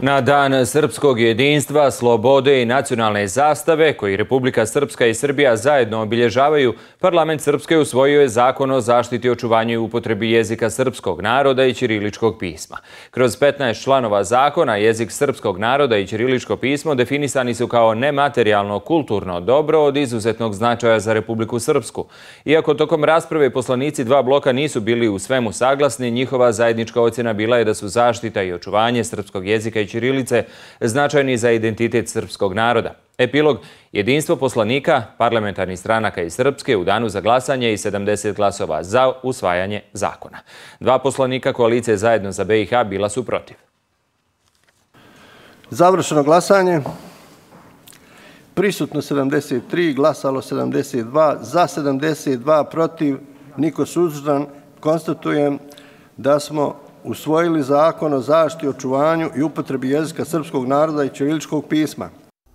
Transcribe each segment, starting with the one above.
Na Dan srpskog jedinstva, slobode i nacionalne zastave, koji Republika Srpska i Srbija zajedno obilježavaju, Parlament Srpske usvojio je Zakon o zaštiti, očuvanju i upotrebi jezika srpskog naroda i ćiriličkog pisma. Kroz 15 članova zakona, jezik srpskog naroda i ćiriličko pismo definisani su kao nematerijalno kulturno dobro od izuzetnog značaja za Republiku Srpsku. Iako tokom rasprave poslanici dva bloka nisu bili u svemu saglasni, njihova zajednička ocjena bila je da su zaštita i očuvanje srpskog jezika i ćirilice značajni za identitet srpskog naroda. Epilog: jedinstvo poslanika, parlamentarnih stranaka iz Srpske u danu za glasanje i 70 glasova za usvajanje zakona. Dva poslanika koalicije Zajedno za BiH bila su protiv. Završeno glasanje. Prisutno 73, glasalo 72, za 72, protiv, niko suzdržan. Konstatujem da smo usvojili Zakon o zaštiti, očuvanju i upotrebi jezika srpskog naroda i ćiriličkog pisma.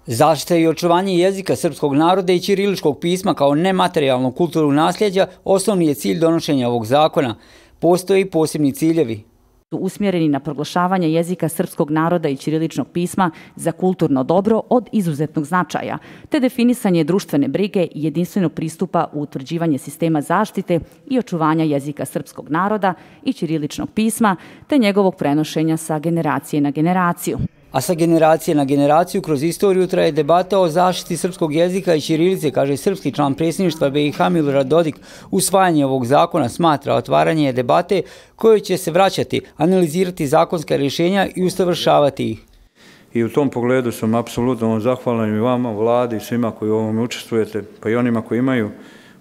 Zaštita i očuvanje jezika srpskog naroda i ćiriličkog pisma kao nematerijalnog kulturnog nasljeđa osnovni je cilj donošenja ovog zakona. Postoje i posebni ciljevi. Usmjereni na proglašavanje jezika srpskog naroda i ćiriličnog pisma za kulturno dobro od izuzetnog značaja, te definisanje društvene brige i jedinstvenog pristupa u utvrđivanje sistema zaštite i očuvanja jezika srpskog naroda i ćiriličnog pisma, te njegovog prenošenja sa generacije na generaciju. A sa generacije na generaciju kroz istoriju traje debata o zaštiti srpskog jezika i ćirilice, kaže srpski član predsjedništva BiH Milorad Dodik. Usvajanje ovog zakona smatra otvaranje debate koje će se vraćati, analizirati zakonska rješenja i usavršavati ih. I u tom pogledu sam apsolutno zahvalan i vama, vladi i svima koji u ovome učestvujete, pa i onima koji imaju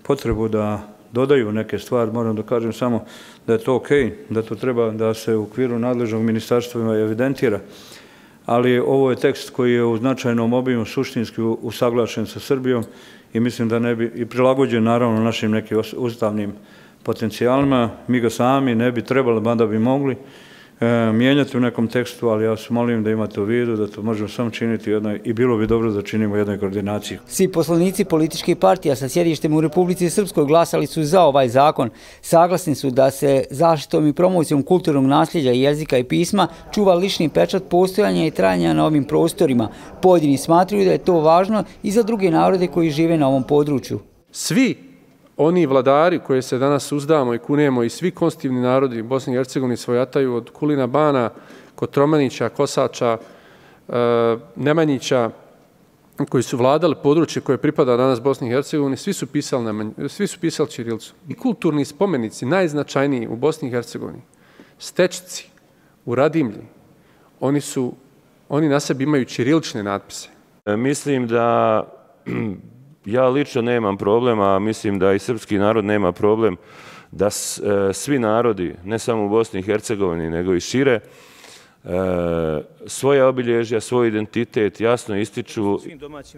potrebu da dodaju neke stvari. Moram da kažem samo da je to okej, da to treba da se u okviru nadležnog ministarstva evidentira. Ali ovo je tekst koji je u značajnom obimu suštinski usaglašen sa Srbijom i mislim da ne bi, i prilagođen naravno našim nekim ustavnim potencijalima. Mi ga sami ne bi trebali, mada bi mogli mijenjati u nekom tekstu, ali ja vas molim da imate u vidu da to možemo samo činiti i bilo bi dobro da činimo jednoj koordinaciji. Svi poslanici političkih partija sa sjedištem u Republici Srpskoj glasali su za ovaj zakon. Saglasni su da se zaštitom i promocijom kulturnog nasljeđa jezika i pisma čuva lični pečat postojanja i trajanja na ovim prostorima. Pojedini smatruju da je to važno i za druge narode koji žive na ovom području. Svi oni vladari koje se danas uzdamo i kunemo i svi konstitutivni narodi Bosne i Hercegovine svojataju od Kulina Bana, Kotromanića, Kosača, Nemanjića, koji su vladali područje koje pripada danas Bosni i Hercegovini, svi su pisali ćirilicu. I kulturni spomenici, najznačajniji u Bosni i Hercegovini, Stečici, u Radimlji, oni na sebi imaju ćirilične natpise. Mislim da ja lično nemam problema, mislim da i srpski narod nema problem da svi narodi, ne samo u Bosni i Hercegovini, nego i šire, svoje obilježja, svoj identitet jasno ističu.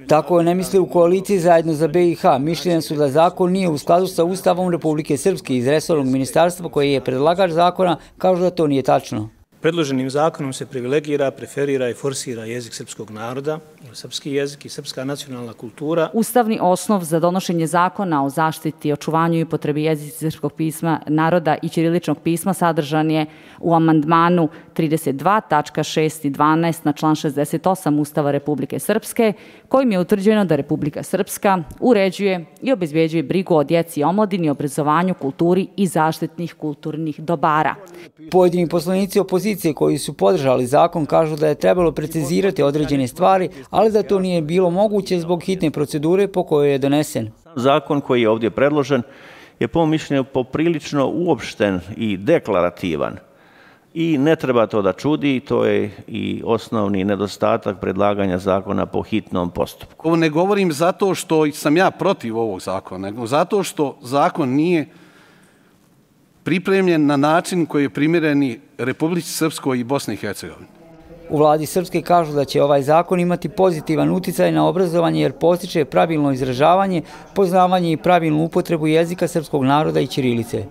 Tako ne misle u koaliciji Zajedno za BiH. Mišljenja su da zakon nije u skladu sa Ustavom Republike Srpske. Iz resornog ministarstva koji je predlagač zakona kažu da to nije tačno. Predloženim zakonom se privilegira, preferira i forsira jezik srpskog naroda, srpski jezik i srpska nacionalna kultura. Ustavni osnov za donošenje zakona o zaštiti, očuvanju i upotrebi jezika srpskog pisma naroda i ćiriličnog pisma sadržan je u amandmanu 32, tačka 6 i 12 na član 68 Ustava Republike Srpske, kojim je utvrđeno da Republika Srpska uređuje i obezbeđuje brigu o djeci i omladini, obrazovanju, kulturi i zaštitnih kulturnih dobara. Pojedini poslanici opozicije koji su podržali zakon kažu da je trebalo precizirati određene stvari, ali da to nije bilo moguće zbog hitne procedure po kojoj je donesen. Zakon koji je ovdje predložen je po mišljenju poprilično uopšten i deklarativan. I ne treba to da čudi, to je i osnovni nedostatak predlaganja zakona po hitnom postupku. Ovo ne govorim zato što sam ja protiv ovog zakona, nego zato što zakon nije pripremljen na način koji je primjereni Republici Srpskoj i Bosni i Hercegovini. U vladi Srpske kažu da će ovaj zakon imati pozitivan uticaj na obrazovanje jer postiče pravilno izražavanje, poznavanje i pravilnu upotrebu jezika srpskog naroda i ćirilice.